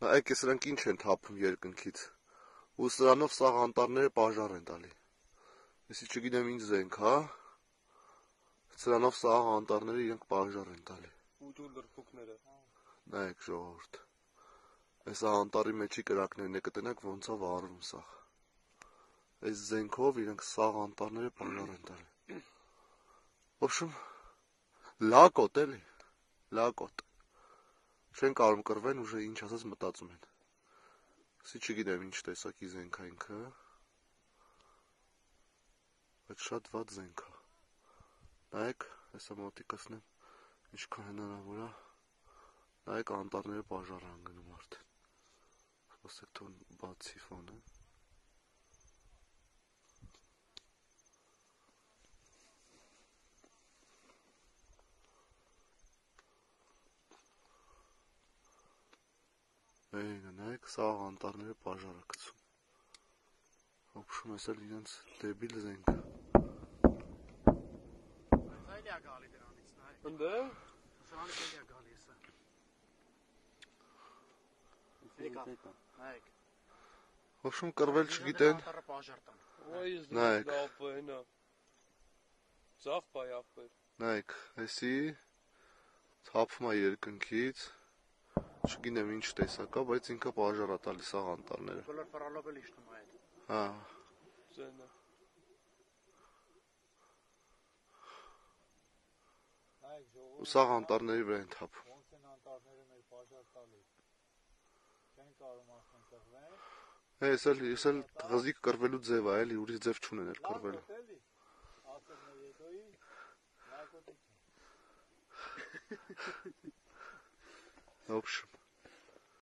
Այք է սրանք ինչ են թափում երկնքից, ու սրանով սաղ անտառները պաժար են տալի, եսի չգիտեմ ինչ զենք, հա, սրանով սաղ անտառները իրենք պաժար են տալի, նայեք ժողովուրդ, այս անտառի մեջի կրակներն է կտնեք ոնց է վարվում սաղ, այս զենքով իրենք սաղ անտառները պաժար են տալի, ոբշում, լակոտ էլի, լակոտ, չեն կարում կրվեն, ուժը ինչ ասած մտածում են, սի չգիտեմ ինչ տեսակի զենք է ինքը, բայց շատ վատ զենք է, նայեք, հեսա մոտիկացնեմ, ինչքան հնարավոր է, նայեք անտառները պաժար են գնում արդեն, սպասեք թող բացի ֆոնը, նայեք սաղ անտառները պաժար է գցում, ոբշում ես էլ իրենց դեբիլ զենք է, Այլիա գալի դրանից, նայեք, Ընդ է, սրանից էլիա գալի եսը, նայեք, ոբշում կրվել չգիտեն, անտառը պաժար տան, նայեք, ծաղ պայ աղբեր, նայեք, հեսի թափում է երկնքից, չգինեմ ինչ տեսակա, բայց ինքը պաժար է տալի սաղ անտառները, բոլոր պարալով էլ իշնում այդ, հա, ծենը, ու սաղ անտառների վրա են թափում, ոնց են անտառները մեր պաժար տալի, չեն կարում ասեն կրվեն, ես էլ տղզիկ կրվելու ձև է, էլի, ուրիշ ձև չունեն էլ կրվելու, լակոտ էլի, ասել մեր եդոյի, լակոտի չեն, ոբշում,